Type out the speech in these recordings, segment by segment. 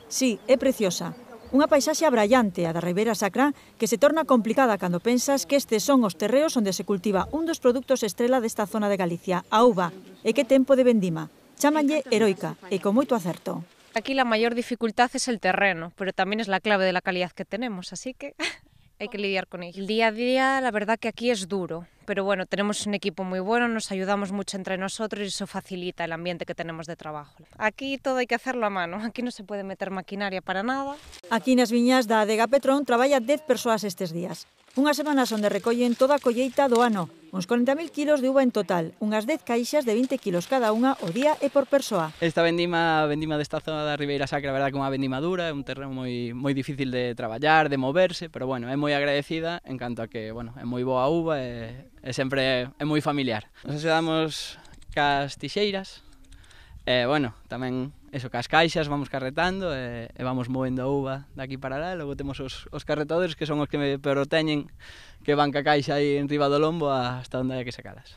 Sí, é preciosa. Unha paisaxe abrallante, a da Ribeira Sacra, que se torna complicada cando pensas que estes son os terreos onde se cultiva un dos produtos estrela desta zona de Galicia, a uva, e que tempo de vendima. Chámanlle heroica, e con moito acerto. Aquí la mayor dificultad es el terreno, pero también es la clave de la calidad que tenemos, así que hay que lidiar con ello. El día a día, la verdad que aquí es duro, pero bueno, tenemos un equipo muy bueno, nos ayudamos mucho entre nosotros y eso facilita el ambiente que tenemos de trabajo. Aquí todo hay que hacerlo a mano, aquí no se puede meter maquinaria para nada. Aquí nas viñas da Adega Petrón traballa 10 persoas estes días. Unhas semanas onde recollen toda a colleita do ano, uns 40.000 kilos de uva en total, unhas 10 caixas de 20 kilos cada unha o día e por persoa. Esta vendima desta zona da Ribeira Sacra, a verdad que é unha vendima dura, é un terreno moi difícil de traballar, de moverse, pero bueno, é moi agradecida en canto a que, bueno, é moi boa uva e sempre é moi familiar. Nos axudamos cas tixeiras, e, bueno, tamén eso, cas caixas vamos carretando e vamos movendo a uva daqui para lá, e logo temos os carretadores que son os que me proteñen, que van ca caixa aí en riba do lombo hasta onde hai que sacalas.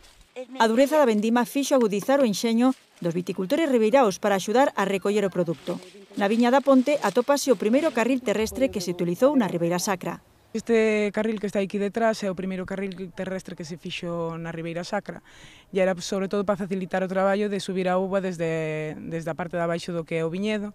A dureza da vendima fixo agudizar o enxeño dos viticultores ribeiraos para axudar a recoller o produto. Na viña da Ponte atópase o primeiro carril terrestre que se utilizou na Ribeira Sacra. Este carril que está aquí detrás é o primeiro carril terrestre que se fixo na Ribeira Sacra e era sobre todo para facilitar o traballo de subir a uva desde a parte de abaixo do que é o viñedo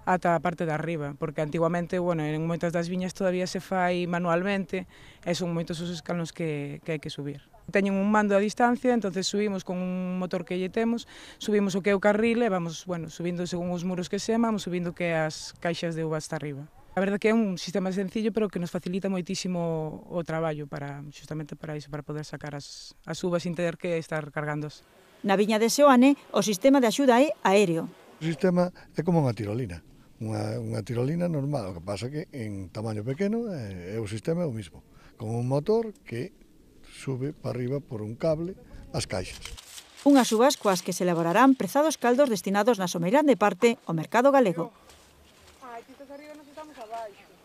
ata a parte de arriba, porque antigamente, bueno, en moitas das viñas todavía se fai manualmente e son moitos os escalóns que hai que subir. Teñen un mando a distancia, entonces subimos con un motor que lle temos, subimos o que é o carril e vamos, bueno, subindo según os muros que se vamos subindo que as caixas de uva hasta arriba. A verdade que é un sistema sencillo, pero que nos facilita moitísimo o traballo justamente para iso, para poder sacar as uvas sin ter que estar cargándoas. Na viña de Seoane, o sistema de axuda é aéreo. O sistema é como unha tirolina, unha tirolina normal, o que pasa que en tamaño pequeno o sistema é o mismo, con un motor que sube para arriba por un cable as caixas. Unhas uvas coas que se elaborarán prezados caldos destinados na someirán de parte ao mercado galego. Aquí estás arriba, nos estamos abaixo.